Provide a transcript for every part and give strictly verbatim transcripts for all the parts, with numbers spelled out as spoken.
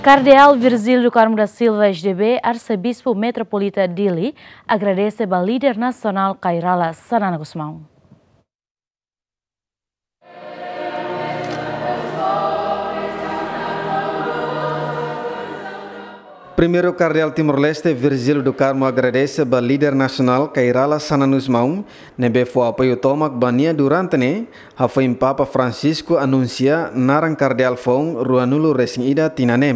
Kardeál Virgílio do Carmo da Silva, S D B, Arsebispu Metropolita Dili, agradese ba líder nasionál Kay Rala Xanana Gusmão. Primeiru Kardeál Timor-Leste, Virgílio do Carmo, agradese ba líder nasionál Kay Rala Xanana Gusmão, ne'ebé fó apoiu tomak ba nia durante ne'e, hafoin Papa Francisco anunsia naran kardeál foun ruanulu resin ida tinan ne'e.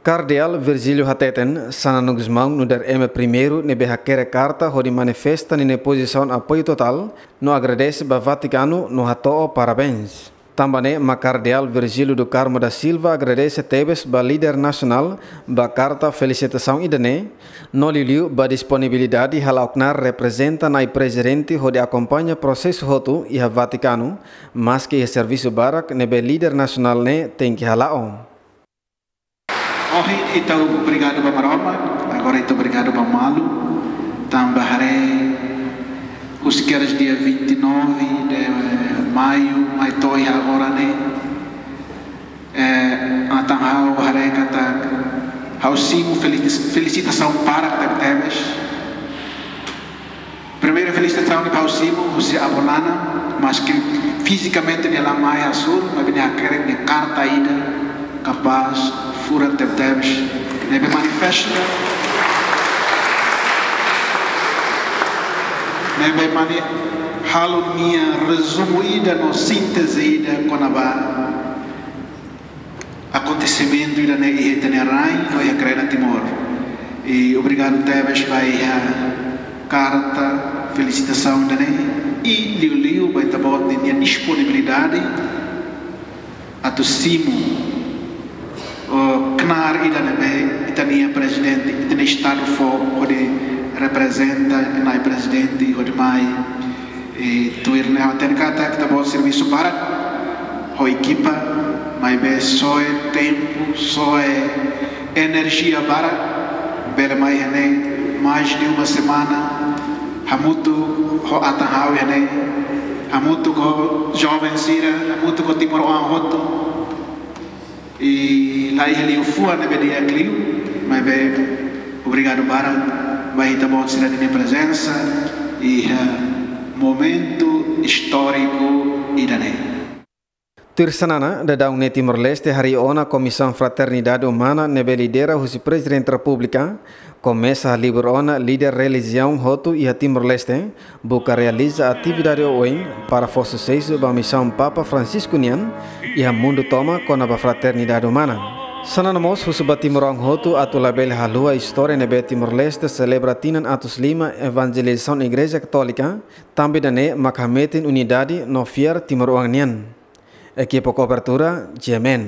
Kardeál Virgílio hateten, Xanana Gusmão nu'udar ema primeiru ne'ebé hakerek karta hodi manifesta ninia pozisaun apoiu totál, no agradese ba Vatikanu no hato'o parabéns. Tanba ne'e mak Kardeál Virgílio do Carmo da Silva agradese tebes ba líder nasionál ba karta felisitasaun ida-ne'e, no liuliu ba disponibilidade hala'o knaar reprezenta Na'i Prezidente hodi akompaña prosesu hotu iha Vatikanu, maski iha servisu barak ne'ebé líder nasionál ne'e tenke hala'o. Ohin ita obrigadu ba Maromak, agora ita obrigadu ba malu, tanba haree husi kedas dia vinte e nove de maio, mai to'o iha agora ne'e, eh, atan ha'u haree katak ha'u simu felis-, felisitasaun barak tebetebes. Primeiru felisitasaun ne'e ha'u simu husi avó Nana, maski fizikamente nia la mai Asur, maibé nia hakerek nia karta ida kapás, furak tebetebes, ne'ebé manifesta, ne'ebé mani-, halo nia rezumu ida no sínteze ida kona-ba akontesimentu ida-ne'e iha ita-nia rain no iha Kreda Timor. I obrigadu tebes ba iha karta felisitasaun ida-ne'e, i liuliu ba ita-boot ninia disponibilidade atu simu, o, knaar ida ne'ebé ita-nia Prezidente, ita-nia Estadu fó hodi reprezenta Na'i Prezidente hodi mai. I tuir ne'e ha'u hatene katak ita-boot servisu barak ho ekipa, maibé soe tempu, soe enerjia barak, bele mai iha ne'e mais de uma semana, hamutuk ho atan ha'u iha ne'e, hamutuk ho joven sira, hamutuk ho timoroan hotu. I la iha liafuan ne'ebé di'ak liu, maibé obrigadu barak ba ita-boot sira ninia prezensa iha momentu istóriku ida-ne'e. Tuir Xanana, daudaun ne'e Timor-Leste harii ona Komisaun Fraternidade Umana ne'ebé lidera husi Prezidente Repúblika, komesa halibur ona líder relijiaun hotu iha Timor-Leste, buka realiza atividade oioin para fó susesu ba misaun Papa Francisco nian iha mundu tomak kona-ba fraternidade umana. Xanana mós husu ba timoroan hotu atu labele haluha istória ne'ebé Timor-Leste selebra tinan atus lima evanjelizasaun Igreja Katólika, tanba ida-ne'e mak hametin unidade no fiar timoroan nian. Ekipa kobertura, G M N.